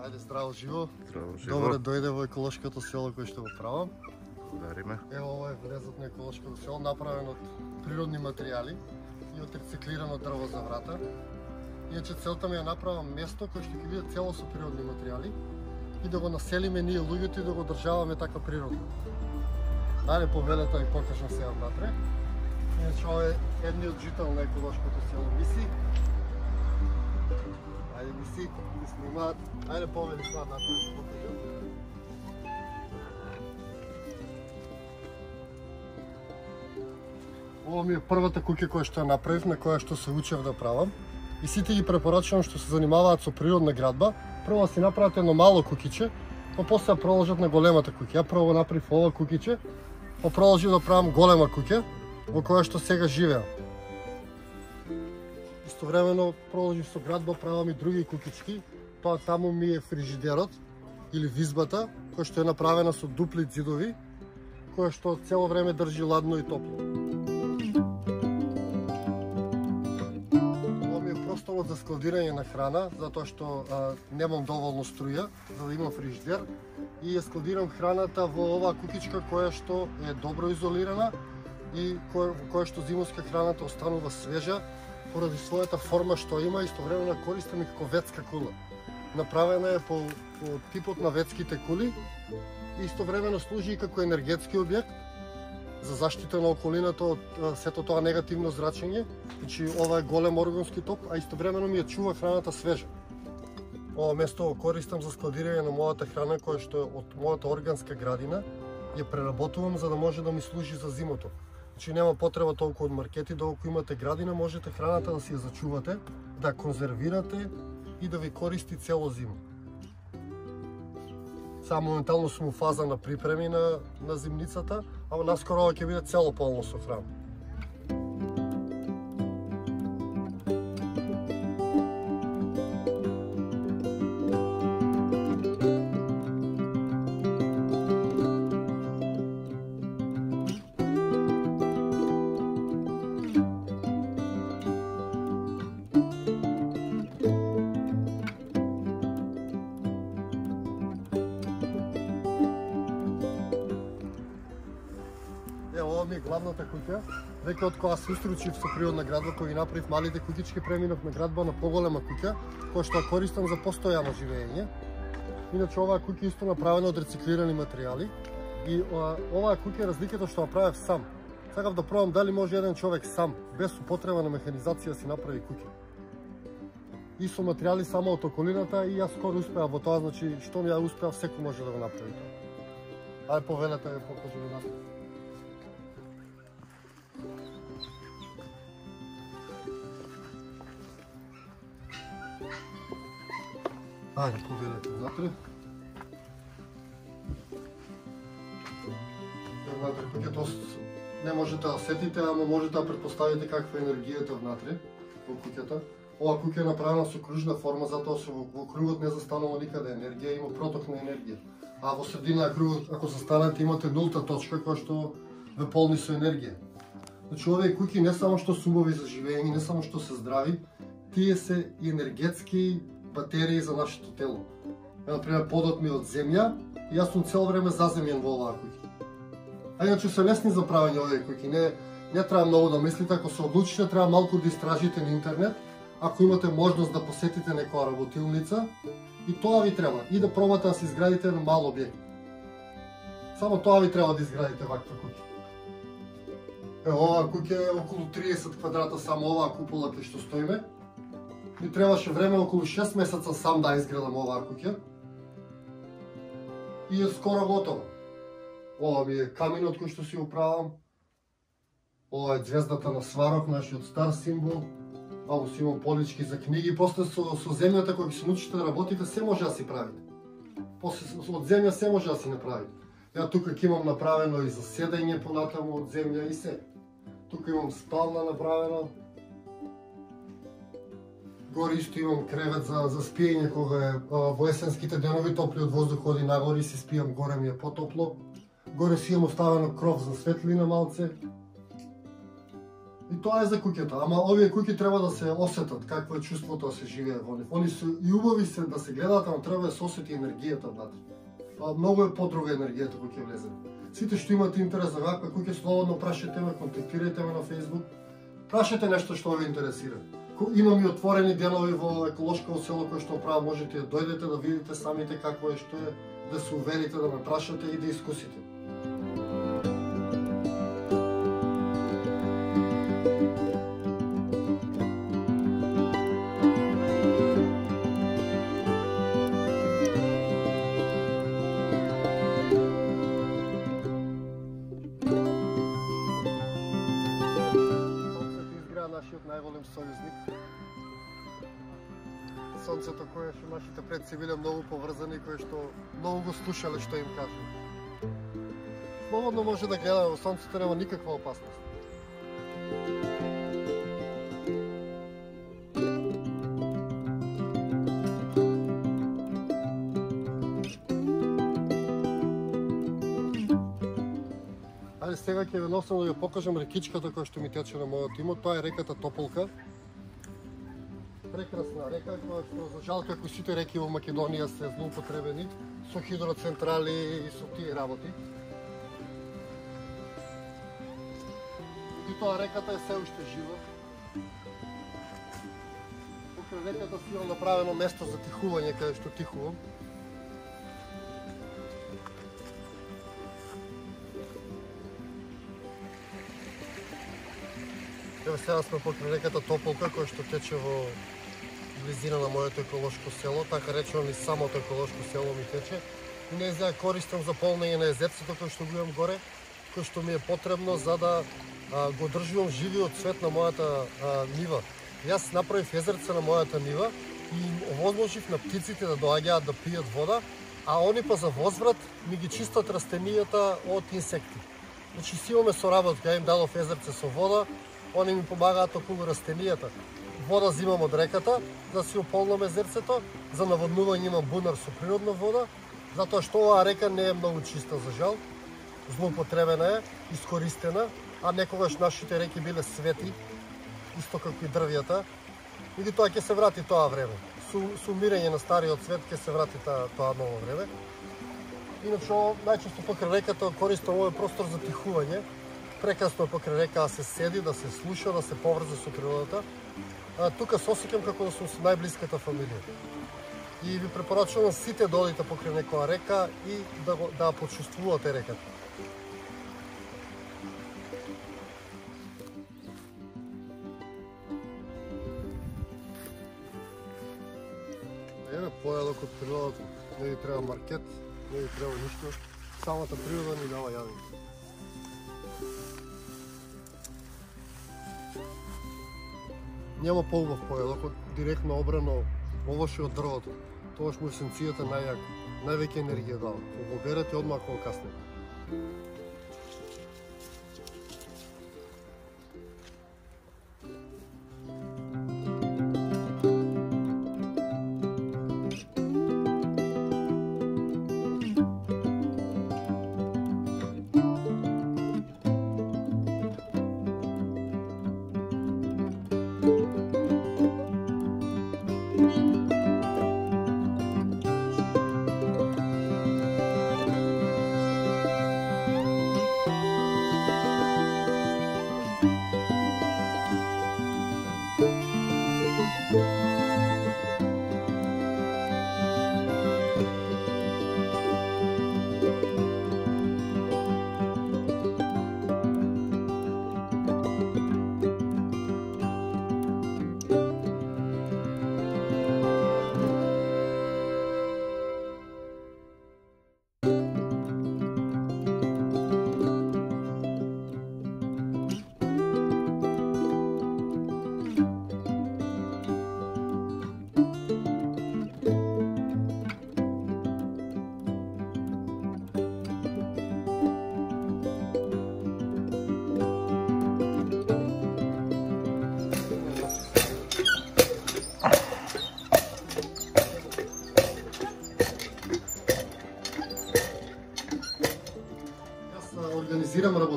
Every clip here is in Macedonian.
Ајде, здраво живо. Здраво живо. Добре дојде во еколошкото село кој што го правам. Благодариме. Ево, ова е влезот на еколошкото село, направен од природни материјали и од рециклирано дрво за врата. Иначе целта ми е направам место кој што ќе биде цело со природни материјали и да го населиме ние луѓето и да го одржаваме така природно. Ајде, повелете ви покажам сега внатре. Иначе ова е едниот жител на еколошкото село Миси. Ајде, Миси, да снимаат. Ајде, повели сега напред да покажам. Ова ми е првата куќа која што ја направив, на која што се учев да правам. И сите ги препорачувам што се занимаваат со природна градба, прво да си направат едно мало куќиче, па после да продолжат на големата куќа. Ја прво направив ова куќиче, па продолжив да правам голема куќа во која што сега живеам. Истовремено продолжив со градба, правам и други куќички. Тоа таму ми е фрижидерот или визбата, која што е направена со дупли ѕидови, која што цело време држи ладно и топло. Ова ми е просторот за складирање на храна, затоа што немам доволно струја за да имам фрижидер и ја складирам храната во оваа куќичка која што е добро изолирана и која што зимовска храната останува свежа поради својата форма што има и истовремено користам и како ветска кула. Направена е по типот на ветските кули и истовремено служи и како енергетски објект за заштита на околината од сето тоа негативно зрачење. Значи ова е голем органски топ, а истовремено ми ја чува храната свежа. Ова место го користам за складирање на мојата храна која што е од мојата органска градина. Ја преработувам за да може да ми служи за зимото. Значи нема потреба толку од маркети, доколку имате градина, можете храната да си ја зачувате, да конзервирате и да ви користи цело зима. Само моментално сум у фаза на припреми на зимницата, ама наскоро ова ќе биде цело полно со храна. Ова ми е главната куќа. Веќе од кога се устручих со природна градба, кој ги направив малите куќички, преминав на градба на поголема куќа, која што ја користам за постојано живење. Иначе оваа куќа исто направена од рециклирани материјали и оваа куќа разликата што ја правев сам. Сакав да пробам дали може еден човек сам, без употреба на механизација, си направи куќа. И со материјали само од околината и јас скоро успеав во тоа, значи што ја успеав, секој може да го направи тоа. Ајде, повелете да покажам напред. Ајде, повелете внатре. Внатре куќето не можете да сетите, ама можете да претпоставите каква е енергијата внатре во куќата. Ова куќа е направена со кружна форма, затоа што во кругот не застанува никаде енергија, има проток на енергија. А во средина на кругот, ако застанете, имате нулта точка која што ве полни со енергија. Значи, овие куќи не само што сумови за живење, не само што се здрави, тие се и енергетски батерии за нашето тело. Например, подот ми од земја и јас сум цело време заземјен во оваа куќа. А иначе се лесни за правење овие куќи, не треба многу да мислите, ако се одлучите, треба малку да истражите на интернет, ако имате можност да посетите некоја работилница, и тоа ви треба, и да пробате да се изградите еден мал објект. Само тоа ви треба да изградите ваква куќа. Оваа куќа е околу 30 квадрата, само оваа купола кај што стоиме. Ми требаше време околу 6 месеца сам да изградам оваа куќа. И е скоро готова. Ова ми е каминот кој што си управам. Ова е ѕвездата на Сварог, нашиот стар символ. Ваму си имам полички за книги, после со земјата кога се научите да работите, се може да си правите. После од земја се може да си направите. Ја тука ќе имам направено и за седење понатаму од земја и се. Тука имам спална направено. Гори исто имам кревет за спиење кога е во есенските денови топлиот воздух оди нагоре и си спијам горе ми е потопло. Горе си имам оставено кров за светлина малце. И тоа е за куќата, ама овие куќи треба да се осетат какво е чувството да се живее во нив. Они се и убави се да се гледаат, ама треба да се осети енергијата внатре. Многу е подруга енергијата кога ќе влезе. Сите што имате интерес за ваква куќа, слободно прашајте ме, контактирајте ме на Facebook. Прашајте нешто што ве интересира. Имам и отворени денови во еколошко село кој што правам, можете да дојдете да видите самите какво е, што е, да се уверите, да ме прашате и да искусите. Нашиот најголем сојузник. Сонцето кое што нашите предци биле многу поврзани, кои што многу го слушале што им кажа. Слободно може да гледаме во сонцето, нема никаква опасност. Сега ќе ве носам да ја покажам рекичката која што ми тече на мојот имот. Тоа е реката Тополка. Прекрасна река која што за жал како сите реки во Македонија се злоупотребени со хидроцентрали и со тие работи. И тоа реката е се уште жива. Покрај реката си имам направено место за тихување каде што тихувам. Ево сега сме покрај реката Тополка, која што тече во близина на моето еколошко село, така речено и самото еколошко село ми тече. И не ја користам за полнење на езерцето кој што го имам горе, кој што ми е потребно за да го држувам живиот цвет на мојата нива. Јас направив езерце на мојата нива и овозможив на птиците да доаѓаат да пијат вода, а они па за возврат ми ги чистат растенијата од инсекти. Значи си имаме соработка, ја им дадов езерце со вода, они ми помагаат околу растенијата. Вода зимам од реката, да си ополнам езерцето, за наводнување имам бунар со природна вода, затоа што оваа река не е многу чиста за жал, злоупотребена е, искористена, а некогаш нашите реки биле свети, исто како и дрвјата, и тоа ќе се врати тоа време. Со умирање на стариот свет ќе се врати тоа ново време. Иначе најчесто покрај реката користам овој простор за тихување. Прекрасно покрај река да се седи, да се слуша, да се поврзе со природата. Тука се осеќам како да сум со најблиската фамилија. И ви препорачувам сите да одите покрај некоја река и да почувствувате реката. Еве појадок од природата. Не ви треба маркет, не ви треба ништо. Самата природа ни дава јадење. Нема поубав појадок, директно обрано овоше од дрвото. Тогаш му есенцијата најјака, највеќе енергија дава. Кога го берете одмah кога касне.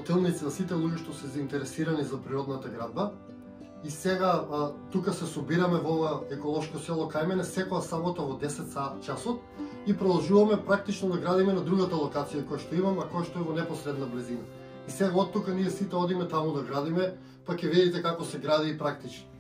работилници, на сите луѓе што се заинтересирани за природната градба. И сега тука се собираме во ова еколошко село кај мене секоја сабота во 10 часот и продолжуваме практично да градиме на другата локација која што имам, а која што е во непосредна близина. И сега од тука ние сите одиме таму да градиме, па ќе видите како се гради и практично.